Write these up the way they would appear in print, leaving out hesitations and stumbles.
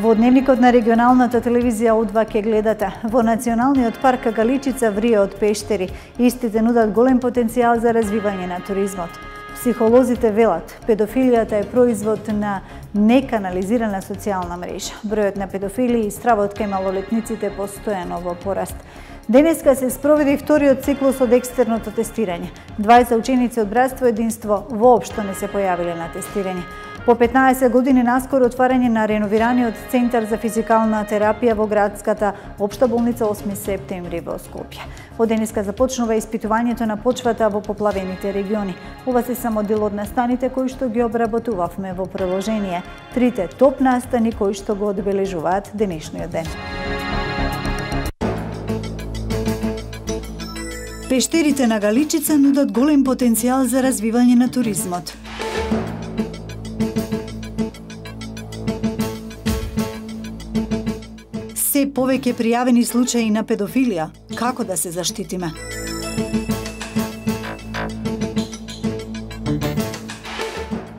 Во дневникот на регионалната телевизија О2 ке гледате. Во Националниот парк Галичица врие од пештери. Истите нудат голем потенцијал за развивање на туризмот. Психолозите велат, педофилијата е производ на неканализирана социјална мрежа. Бројот на педофили и стравот кај малолетниците постојано во пораст. Денеска се спроведе вториот циклус од екстерното тестирање. 20 ученици од Братство Единство воопшто не се појавиле на тестирање. По 15 години наскоро отварање на реновираниот Центар за физикална терапија во градската општа болница 8 септември во Скопје. Од денеска започнува испитувањето на почвата во поплавените региони. Ова се само дел од настаните кои што ги обработувавме во приложение. Трите топ настани кои што го одбележуваат денешниот ден. Пештерите на Галичица нудат голем потенцијал за развивање на туризмот. Се повеќе пријавени случаи на педофилија. Како да се заштитиме?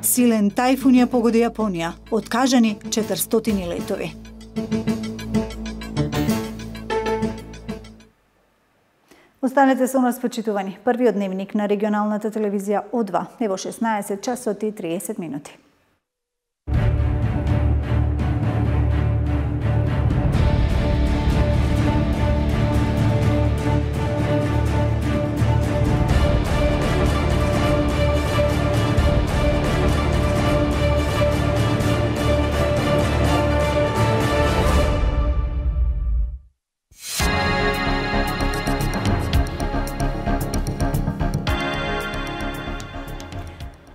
Силен тајфун ја погоди Јапонија. Откажани 400 летови. Останете со нас, почитувани. Првиот дневник на регионалната телевизија О2 е во 16 часот и 30 минути.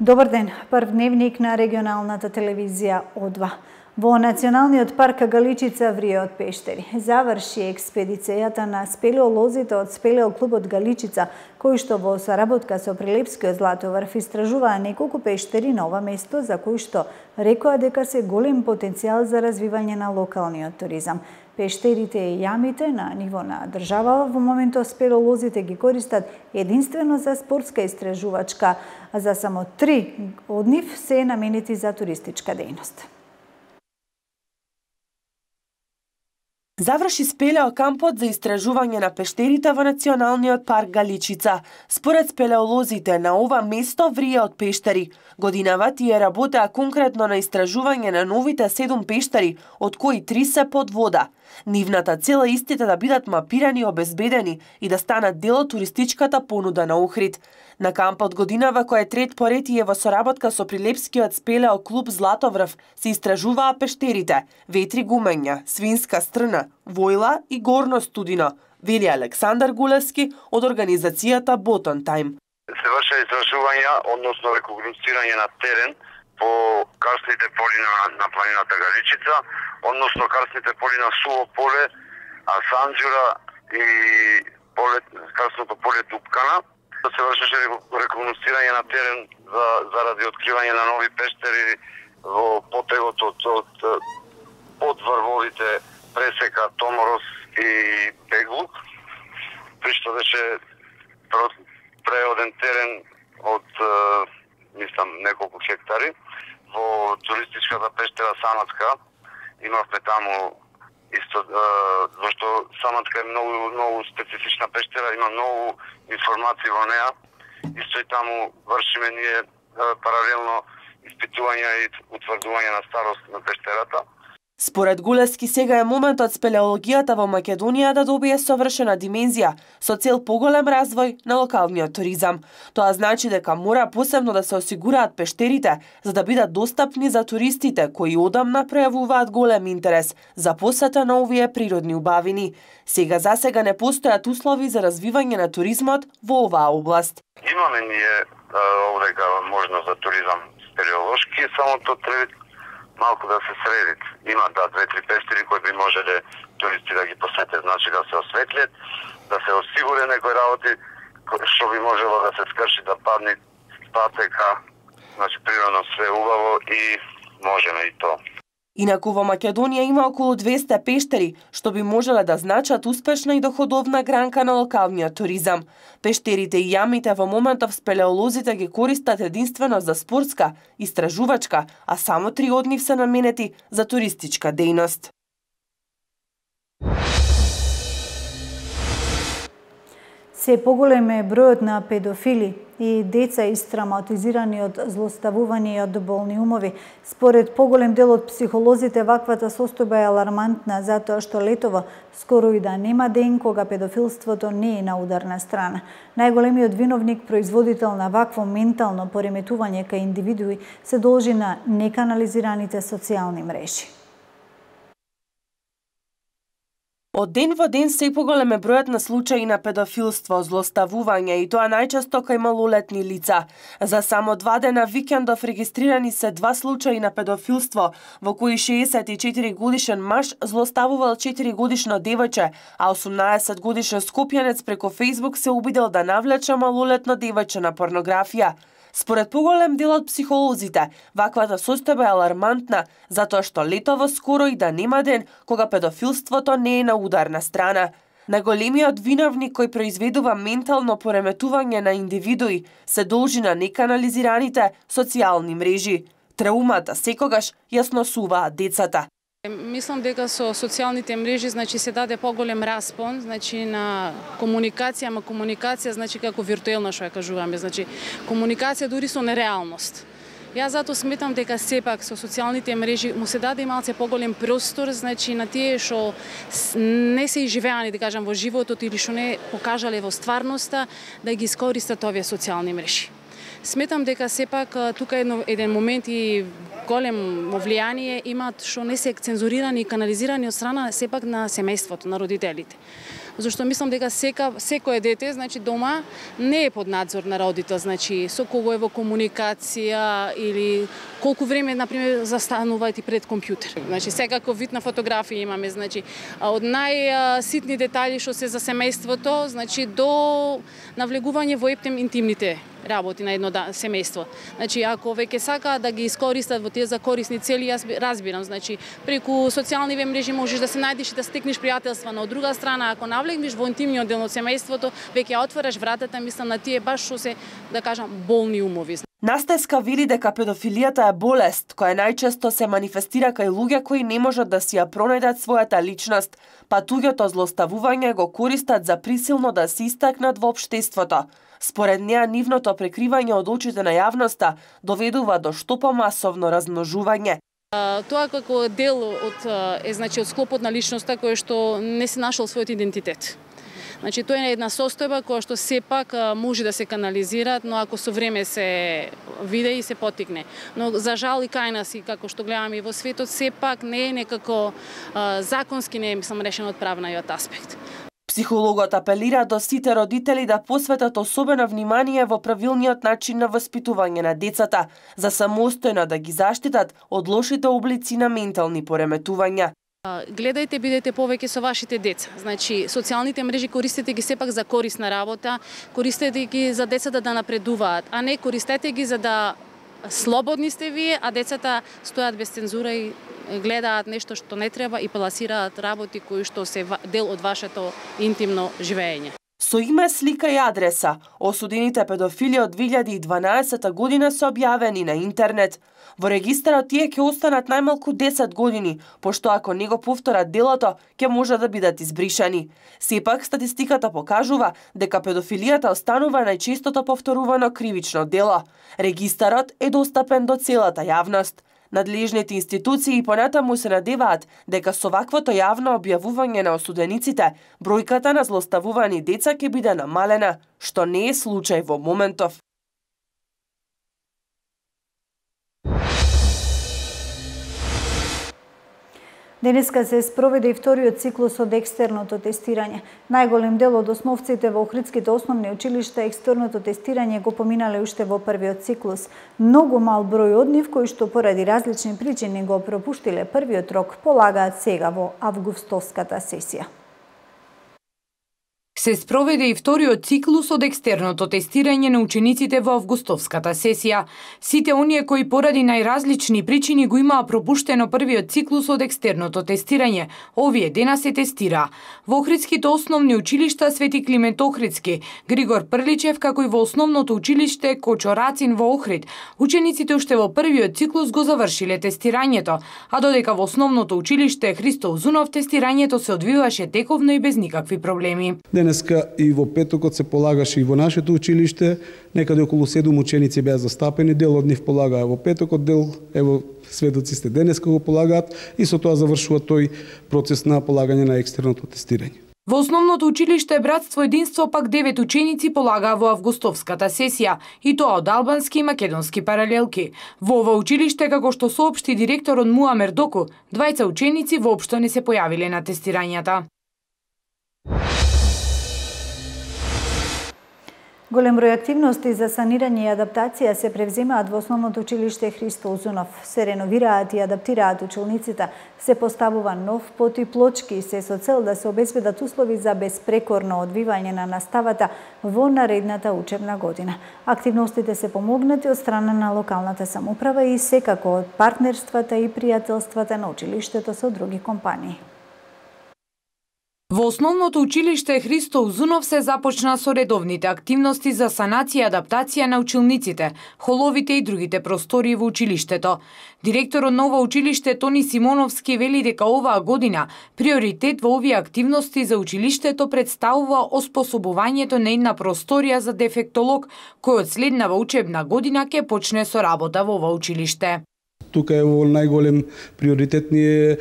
Добар ден, прв дневник на регионалната телевизија О2. Во Националниот парк Галичица врие од пештери. Заврши експедицијата на спелеолозите од спелеоклубот Галичица, кои што во соработка со Прилепскиот златоврв истражуваа неколку пештери на ова место, за кои што рекоа дека се голем потенцијал за развивање на локалниот туризам. Пештерите и јамите на ниво на држава во моментот спелеолозите ги користат единствено за спортска истражувачка, а за само 3 од нив се наменети за туристичка дејност. Заврши спелеокампот за истражување на пештерите во Националниот парк Галичица. Според спелеолозите, на ова место врие од пештери. Годинава тие работеа конкретно на истражување на новите 7 пештери, од кои 3 се под вода. Нивната цел е истите да бидат мапирани и обезбедени и да станат дел од туристичката понуда на Охрид. На кампот годинава, кој е трет поред и е во соработка со Прилепскиот спелеоклуб Златоврв, се истражуваа пештерите Ветри гумења, Свинска стрна, Војла и Горно студино, вели Александар Гулевски од организацијата Ботон Тајм. Се врши истражувања, односно рекогносцирање на терен по карстните поли на планината Галичица, односно карстните поли на Суво поле, Асанџура и карстното поле Дупкана. Се вршеше рекогносцирање на терен заради откривање на нови пештери во потегот од врвовите Пресека, Томорос и Беглук, при што беше преоден терен од неколку хектари. Во туристичката пештера Саматка имавме таму исто, зашто Саматка е многу специфична пештера, има многу информации во неа. Исто и таму вршиме ние паралелно испитувања и утврдување на старост на пештерата. Според Гулевски, сега е моментот спелеологијата во Македонија да добие совршена димензија со цел поголем развој на локалниот туризам. Тоа значи дека мора посебно да се осигураат пештерите за да бидат достапни за туристите кои одамна пројавуваат голем интерес за посета на овие природни убавини. Сега не постојат услови за развивање на туризмот во оваа област. Имаме ние овдека можност за туризам спелеолошки, само тоа треба малку да се средит. Има 2-3 пештери кои би можеле туристи да ги посетат, значи да се осветлет, да се осигуре некои работи што би можело да се скрши, да падне патека, значи природно све убаво и можеме и тоа. Инаку во Македонија има околу 200 пештери, што би можеле да значат успешна и доходовна гранка на локалниот туризам. Пештерите и јамите во моментов спелеолозите ги користат единствено за спортска, истражувачка, а само 3 од нив се наменети за туристичка дејност. Се поголем е бројот на педофили и деца истравматизирани од злоставување и од болни умови. Според поголем дел од психолозите, ваквата состојба е алармантна затоа што летово скоро и да нема ден кога педофилството не е на ударна страна. Најголемиот виновник, производител на вакво ментално пореметување кај индивидуи, се должи на неканализираните социјални мрежи. Од ден во ден се поголем е бројот на случаи на педофилство, злоставување и тоа најчесто кај малолетни лица. За само 2 дена викендов регистрирани се 2 случаи на педофилство, во кои 64 годишен маж злоставувал 4 годишно девојче, а 18 годишен скопјанец преку Facebook се обидел да навлече малолетно девојче на порнографија. Според поголем дел од психолозите, ваквата состојба е алармантна, затоа што летово скоро и да нема ден кога педофилството не е на ударна страна. Најголемиот виновник кој произведува ментално пореметување на индивидуи се должи на неканализираните социјални мрежи. Траумата секогаш ја сносуваат децата. Мислам дека со социјалните мрежи се даде поголем распон на комуникација, ама комуникација како виртуелна, што ја кажуваме, комуникација дури со нереалност. Јас затоа сметам дека сепак со социјалните мрежи му се даде малце поголем простор на тие што не се изживеани, да кажам, во животот или што не покажале во стварноста, да ги искористат овие социјални мрежи. Сметам дека сепак тука еден момент и големо влијание имаат што не се цензурирани и канализирани од страна сепак на семејството, на родителите. Зашто мислам дека секое дете, дома не е под надзор на родител, со кого е во комуникација или колку време, например, застануваат и пред компјутер. Секако вид на фотографија имаме, од најситни детали што се за семејството, до навлегување во интимните работи на едно семејство. Ако веќе сакаат да ги искористат во тие за корисни цели, јас разбирам. Преку социјални мрежи можеш да се најдеш и да стекнеш пријателства, но од друга страна, ако навлегнеш во интимниот дел од семејството, веќе ја отвораш вратата, мислам, на тие баш што се, да кажам, болни умови. Настеска вели дека педофилијата е болест, која најчесто се манифестира кај луѓе кои не можат да си ја пронајдат својата личност, па туѓото злоставување го користат за присилно да се истакнат во општеството. Според неа, нивното прекривање од очите на јавноста доведува до што помасовно размножување. Тоа како дел од склопот на личноста кој што не се нашол својот идентитет. Тоа е една состојба која што сепак може да се канализира, но ако со време се виде и се потикне. Но за жал и кај нас, и како што гледаме и во светот, сепак не е некако законски не е решено од правниот аспект. Психологот апелира до сите родители да посветат особено внимание во правилниот начин на воспитување на децата, за самостојно да ги заштитат од лошите облици на ментални пореметувања. Гледајте, бидете повеќе со вашите деца. Социјалните мрежи користете ги сепак за корисна работа, користете ги за децата да напредуваат, а не користете ги за да слободни сте вие, а децата стојат без цензура и гледаат нешто што не треба и пласираат работи кои што се дел од вашето интимно живење. Со име, слика и адреса, осудените педофили од 2012 година се објавени на интернет. Во регистарот тие ќе останат најмалку 10 години, пошто ако не го повторат делото, ќе може да бидат избришани. Сепак, статистиката покажува дека педофилијата останува најчестото повторувано кривично дело. Регистарот е достапен до целата јавност. Надлежните институции и понатаму се надеваат дека со ваквото јавно објавување на осудениците, бројката на злоставувани деца ќе биде намалена, што не е случај во моментов. Денеска се спроведе и вториот циклус од екстерното тестирање. Најголем дел од основците во охридските основни училишта екстерното тестирање го поминале уште во првиот циклус. Многу мал број од нив кои што поради различни причини го пропуштиле првиот рок полагаат сега во августовската сесија. Се спроведе и вториот циклус од екстерното тестирање на учениците во августовската сесија. Сите оние кои поради најразлични причини го имаа пропуштено првиот циклус од екстерното тестирање, овие дена се тестира. Во Охридските основни училишта Свети Климент Охридски, Григор Прличев, како и во основното училиште Кочо Рацин во Охрид, учениците уште во првиот циклус го завршиле тестирањето, а додека во основното училиште Христо Узунов тестирањето се одвиваше тековно и без никакви проблеми. Денеска и во петокот се полагаше и во нашето училиште, некаде околу 7 ученици беа застапени, дел од нив полагаа во петокот, дел ево сведоци сте денеска го полагаат и со тоа завршува тој процес на полагање на екстерното тестирање. Во основното училиште Братство Единство пак 9 ученици полагаа во августовската сесија, и тоа од албански и македонски паралелки. Во ова училиште, како што соопшти директорот Муамер Доку, 2 ученици воопшто не се појавиле на тестирањата. Голем број активности за санирање и адаптација се превземаат во основното училиште Христо Узунов. Се реновираат и адаптираат училниците, се поставува нов пот и плочки и се со цел да се обезбедат услови за безпрекорно одвивање на наставата во наредната учебна година. Активностите се помогнати од страна на локалната самоуправа и секако од партнерствата и пријателствата на училиштето со други компании. Во основното училиште Христо Узунов се започна со редовните активности за санација и адаптација на училниците, холовите и другите простории во училиштето. Директорот на ова училиште Тони Симоновски вели дека оваа година приоритет во овие активности за училиштето представува оспособувањето на една просторија за дефектолог, кој од следнава учебна година ќе почне со работа во ова училиште. Тука е во најголем приоритет ни е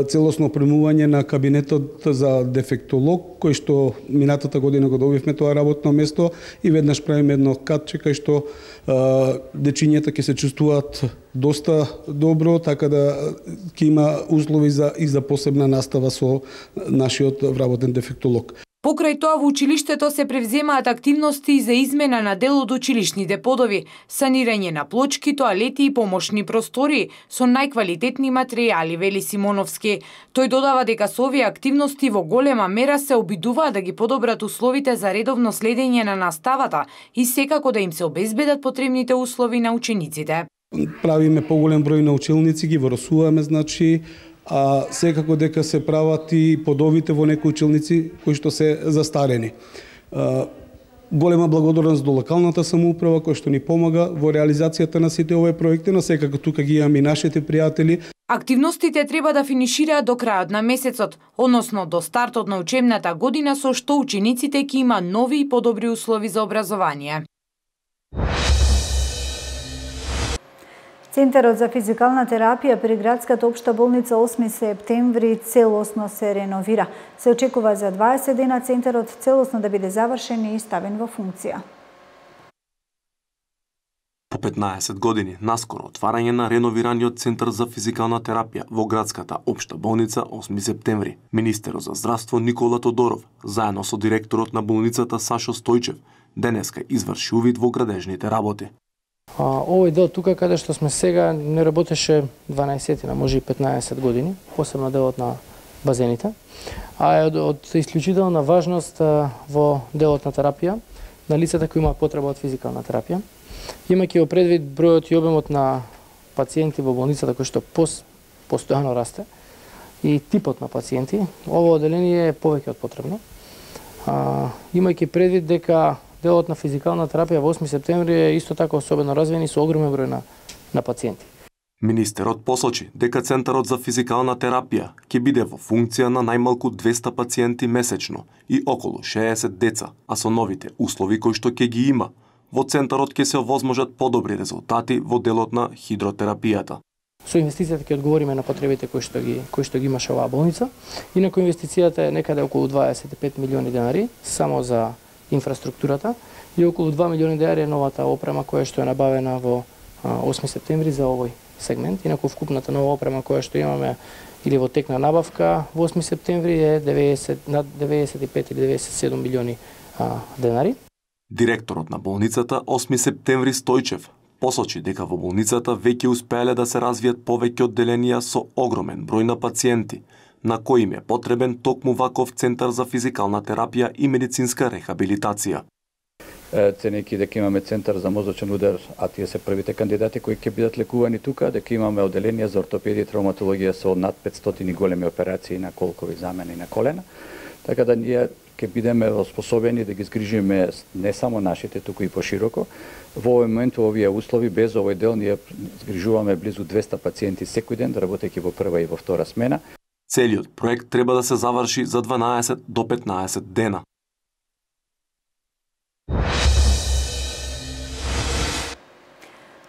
целосно опремување на кабинетот за дефектолог, кој што минатата година го добивме тоа работно место и веднаш правиме едно катче кај што дечињата ќе се чувствуваат доста добро, така да ќе има услови и за посебна настава со нашиот вработен дефектолог. Покрај тоа во училиштето се превземаат активности за измена на дел од училишните подови, санирање на плочки, тоалети и помошни простории со најквалитетни материјали, вели Симоновски. Тој додава дека со овие активности во голема мера се обидуваат да ги подобрат условите за редовно следење на наставата и секако да им се обезбедат потребните услови на учениците. Правиме поголем број на училници, ги воросуваме, значи, а секако дека се прават и подовите во некои училници кои што се застарени. Голема благодарност до локалната самоуправа која што ни помага во реализацијата на сите овие проекти, но секако тука ги имаме и нашите пријатели. Активностите треба да финишираат до крајот на месецот, односно до стартот на учебната година, со што учениците ќе има нови и подобри услови за образование. Центарот за физикална терапија при градската општа болница 8 септември целосно се реновира. Се очекува за 20 дена центарот целосно да биде завршен и ставен во функција. По 15 години наскоро отварање на реновираниот Центар за физикална терапија во градската општа болница 8 септември. Министерот за здравство Никола Тодоров, заедно со директорот на болницата Сашо Стојчев, денеска изврши увид во градежните работи. Овој дел тука каде што сме сега не работеше 12, може и 15 години, посебно делот на базените, а е од исклучителна важност во делот на терапија на лицата кои имаат потреба од физикална терапија. Имајќи во предвид бројот и обемот на пациенти во болницата кој што постојано расте и типот на пациенти, ово одделение е повеќе од потребно. Имајќи предвид дека делот на физикална терапија во 8 септември е исто така особено развиен и со огромен број на пациенти. Министерот посочи дека Центарот за физикална терапија ќе биде во функција на најмалку 200 пациенти месечно и околу 60 деца, а со новите услови кои што ќе ги има, во Центарот ќе се овозможат подобри резултати во делот на хидротерапијата. Со инвестицијата ќе одговориме на потребите кои што ги имаше оваа болница. Инаку инвестицијата е некаде околу 25 милиони денари само за инфраструктурата и околу 2 милиони денари е новата опрема која што е набавена во 8 септември за овој сегмент. Инаку вкупната нова опрема која што имаме или во тек на набавка во 8 септември е над 95 или 97 милиони денари. Директорот на болницата 8 септември Стојчев посочи дека во болницата веќе успеале да се развијат повеќе одделенија со огромен број на пациенти, на кои им е потребен токму ваков центар за физикална терапија и медицинска рехабилитација. Ценејќи дека имаме центар за мозочен удар, а тие се првите кандидати кои ќе бидат лекувани тука, дека имаме оделенија за ортопедија и травматологија со над 500 големи операции на колкови, замени на колена, така да ние ќе бидеме способени да ги згрижиме не само нашите, туку и пошироко. Во овој момент, во овие услови, без овој дел, ние згрижуваме близу 200 пациенти секој ден, работејќи во прва и во втора смена. Целиот проект треба да се заврши за 12 до 15 дена.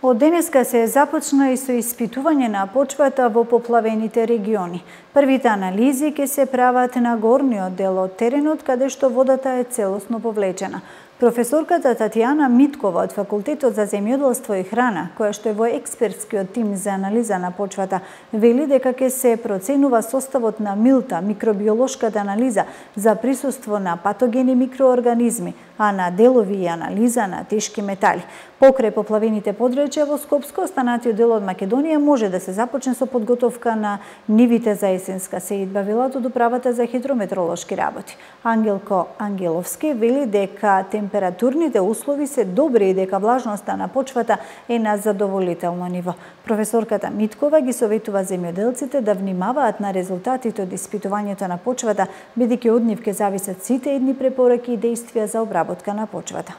Од денеска се започна и со испитување на почвата во поплавените региони. Првите анализи ќе се прават на горниот дел од теренот, каде што водата е целосно повлечена. Професорката Татјана Миткова од Факултетот за земјоделство и храна, која што е во експертскиот тим за анализа на почвата, вели дека ќе се проценува составот на милта, микробиолошката анализа за присуство на патогени микроорганизми, а на делови и анализа на тешки метали. Покрај поплавените подречја во Скопско, останатиот дел од Македонија може да се започне со подготовка на нивите за есенска сеидба, велат од управата за хидрометеоролошки работи. Ангелко Ангеловски вели дека температурните услови се добри и дека влажноста на почвата е на задоволително ниво. Професорката Миткова ги советува земјоделците да внимаваат на резултатите од испитувањето на почвата, бидејќи од нив ќе зависат сите едни препораки и действија за обработка на почвата.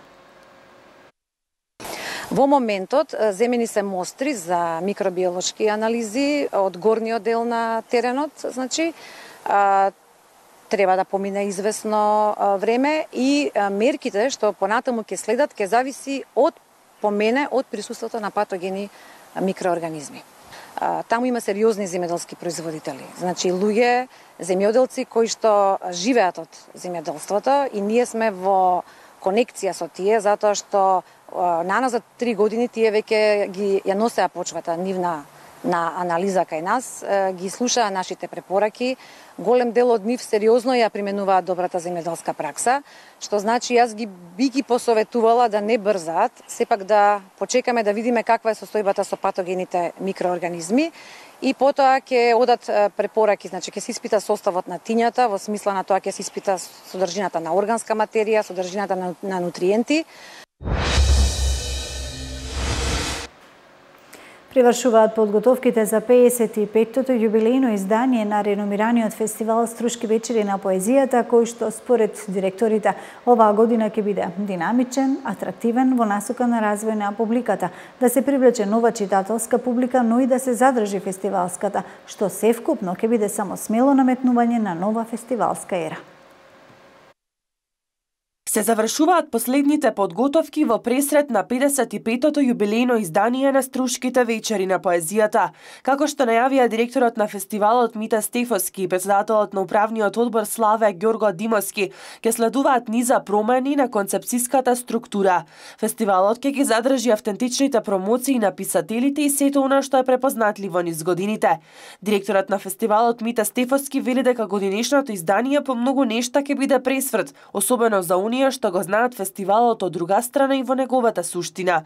Во моментот земени се мостри за микробиолошки анализи од горниот дел на теренот, значи треба да помине известно време и мерките што понатаму ќе следат ќе зависи од присуството на патогени микроорганизми. Таму има сериозни земјоделски производители, значи луѓе, земјоделци кои што живеат од земјоделството и ние сме во конекција со тие затоа што наназад 3 години тие веќе ја носеа почвата нивна на анализа кај нас, ги слушаа нашите препораки, голем дел од нив сериозно ја применуваат добрата земјоделска пракса, што значи јас би ги посоветувала да не брзаат, сепак да почекаме да видиме каква е состојбата со патогените микроорганизми и потоа ќе одат препораки, значи ќе се испита составот на тињата, во смисла на тоа ќе се испита содржината на органска материја, содржината на нутриенти. Привршуваат подготовките за 55-тото јубилејно издание на реномираниот фестивал Струшки вечери на поезијата, кој што според директорите оваа година ќе биде динамичен, атрактивен во насока на развој на публиката, да се привлече нова читателска публика, но и да се задржи фестивалската, што севкупно ќе биде само смело наметнување на нова фестивалска ера. Се завршуваат последните подготовки во пресрет на 55-тото јубилејно издание на Струшките вечери на поезијата. Како што најавија директорот на фестивалот Мита Стефоски и председателот на управниот одбор Славе Ѓорго Димовски, ќе следуваат низа промени на концепцијската структура. Фестивалот ќе ги задржи автентичните промоции на писателите и сето она што е препознатливо низ годините. Директорот на фестивалот Мита Стефоски вели дека годинешното издание по многу нешта ќе биде пресврт, особено за оние што го знаат фестивалот од друга страна и во неговата суштина.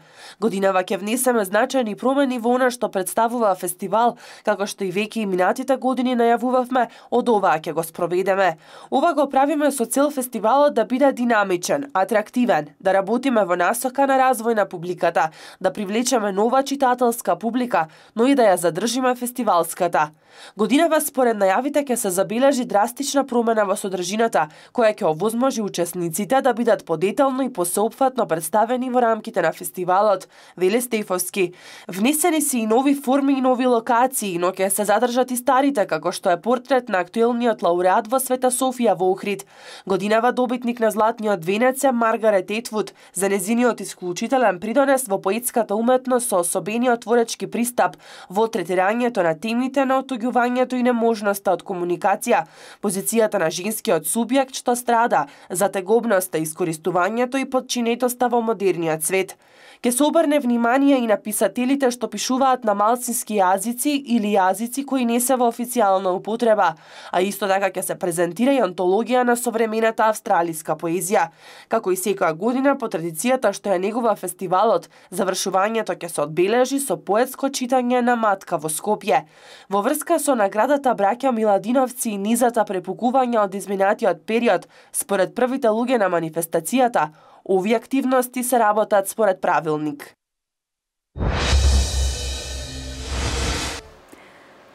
Годинава ќе внесеме значајни промени во она што представува фестивал, како што и веќе и минатите години најавувавме, од оваа ќе го спроведеме. Ова го правиме со цел фестивалот да биде динамичен, атрактивен, да работиме во насока на развој на публиката, да привлечеме нова читателска публика, но и да ја задржиме фестивалската. Годинава според најавите ќе се забележи драстична промена во содржината, која ќе овозможи учесниците да бидат подетално и посеопфатно представени во рамките на фестивалот, вели Стефовски. Внесени се и нови форми и нови локации, но ќе се задржат и старите, како што е портрет на актуелниот лауреат во Света Софија во Охрид. Годинава добитник на Златниот венец е Маргарет Етвуд за незиниот исклучителен придонес во поетската уметност со особениот творечки пристап во третирањето на темите на отуѓувањето и неможноста од комуникација, позицијата на женскиот субјект што страда, затегобноста искористувањето и подчинетоста во модерниот свет. Ке се обрне внимание и на писателите што пишуваат на малцински јазици или јазици кои не се во официјална употреба, а исто така ќе се презентира и антологија на современата австралиска поезија. Како и секоја година по традицијата што е негова фестивалот, завршувањето ќе се одбележи со поетско читање на Матка во Скопје. Во врска со наградата Браќа Миладиновци и низата препукувања од изминатиот период, според првите луѓе на манифестацијата, овие активности се работат според правилник.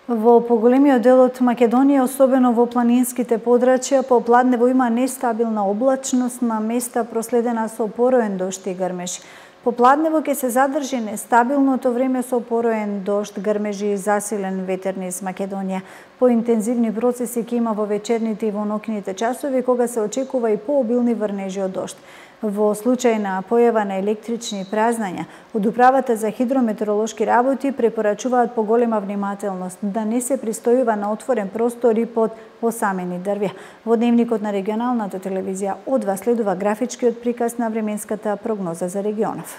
Во поголемиот дел од Македонија, особено во планинските подрачја, попладнево има нестабилна облачност, на места проследена со пороен дожд и грмеж. Попладнево ќе се задржи нестабилното време со пороен дожд, грмежи и засилен ветер низ Македонија. Поинтензивни процеси ќе има во вечерните и во ноќните часови, кога се очекува и пообилни врнежи од дожд. Во случај на појава на електрични празнања, од Управата за хидрометеоролошки работи препорачуваат поголема внимателност, да не се пристојува на отворен простор и под осамени дрвја. Во дневникот на регионалната телевизија одва следува графичкиот приказ на временската прогноза за регионов.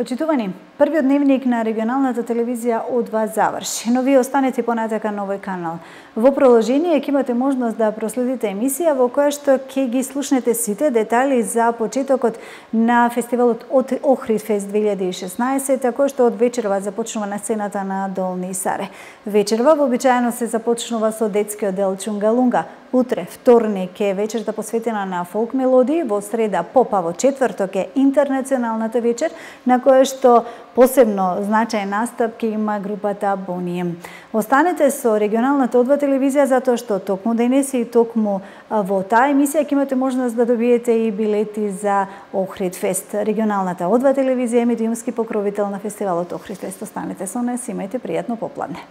Почитувани, првиот дневник на регионалната телевизија одва заврши, но вие останете понатака на овој канал. Во продолжение ќе имате можност да проследите емисија во која што ќе ги слушнете сите детали за почетокот на фестивалот од Охридфест 2016, кој што од вечерва започнува на сцената на Долни Саре. Вечерва вообичаено се започнува со детскиот дел Чунгалунга. Утре, вторник, е вечерта посветена на фолк мелодии, во среда поп, а во четврток е интернационалната вечер, на која што посебно значај настап ќе има групата Бонием. Останете со регионалната одва телевизија, затоа што токму денес и токму во таа емисија ќе имате можност да добиете и билети за Охридфест. Регионалната одва телевизија е медиумски покровител на фестивалот Охридфест. Останете со нас, имајте пријатно попладне.